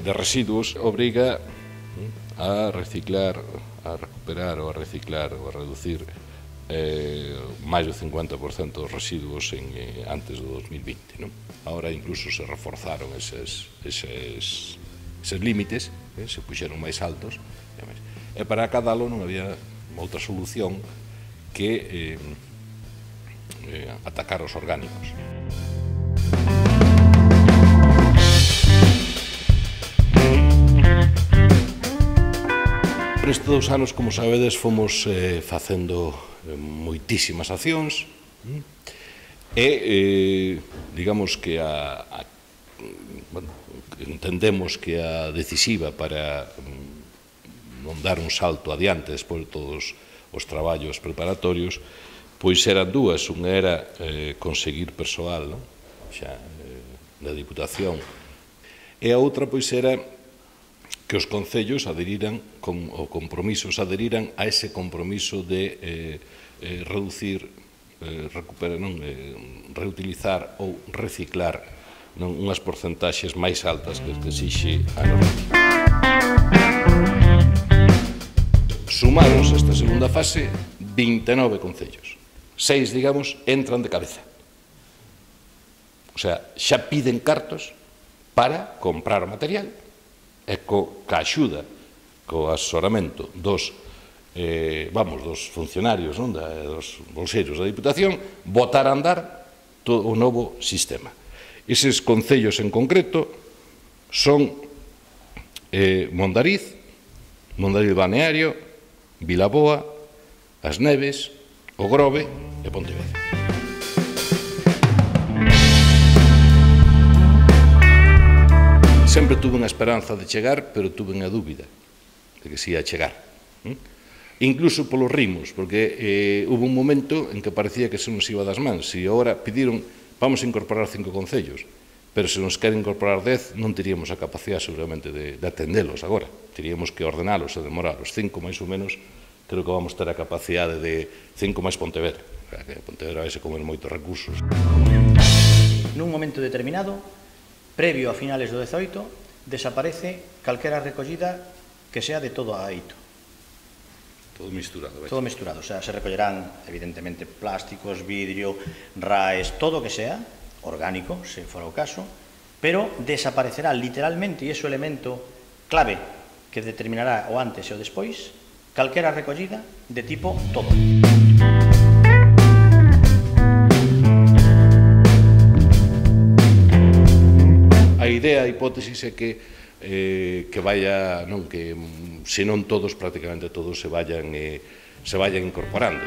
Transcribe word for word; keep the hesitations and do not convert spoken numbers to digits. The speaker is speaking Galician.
de residuos obriga a reciclar, a recuperar ou a reciclar ou a reducir eh, máis do cincuenta por cento dos residuos en, eh, antes do dos mil vinte. Non? Ahora incluso se reforzaron eses, eses, eses límites, eh, se puxeron máis altos, e para acadalo non había outra solución que eh, eh, atacar os orgánicos. Por estes dous anos, como sabedes, fomos eh, facendo eh, moitísimas accións e, eh, digamos que a, a, bueno, entendemos que a decisiva para non dar un salto adiante despois de todos os traballos preparatorios, pois eran dúas. Unha era eh, conseguir persoal, non? Xa, eh, da Diputación, e a outra pois era que os concellos aderiran, con, o compromisos aderiran a ese compromiso de eh, eh, reducir, eh, recuperar, non, eh, reutilizar ou reciclar non, unhas porcentaxes máis altas que, que exixe a normativa. Sumados esta segunda fase, vinte e nove concellos. Seis, digamos, entran de cabeza. O sea, xa piden cartos para comprar o material e co, ca axuda, co asesoramento dos, eh, vamos, dos funcionarios, non, da, dos bolseiros da Diputación, botar a andar todo o novo sistema. Eses concellos en concreto son eh, Mondariz, Mondariz Balneario, Vilaboa, As Neves, O Grove e Pontevedra. Sempre tuve unha esperanza de chegar, pero tuve unha dúbida de que se ia chegar. ¿eh? Incluso polos ritmos, porque eh, hubo un momento en que parecía que se nos iba das mans. E agora pediron, vamos a incorporar cinco concellos, pero se nos queren incorporar dez, non teríamos a capacidade seguramente de, de atendelos agora. Teríamos que ordenalos e demoralos. Cinco, máis ou menos, creo que vamos ter a capacidade de cinco máis Pontevedra. Que Pontevedra vai se comer moitos recursos. Nun momento determinado, previo a finales do dezaoito, desaparece calquera recollida que sea de todo a aito. Todo misturado. Vai. Todo misturado, o sea, se recollerán, evidentemente, plásticos, vidrio, raes, todo o que sea, orgánico, se fora o caso, pero desaparecerá literalmente, e ese elemento clave que determinará o antes e o despois, calquera recollida de tipo todo. A idea, a hipótesis é que eh, que vaya, non, que se non todos, prácticamente todos se vayan eh, se vayan incorporando.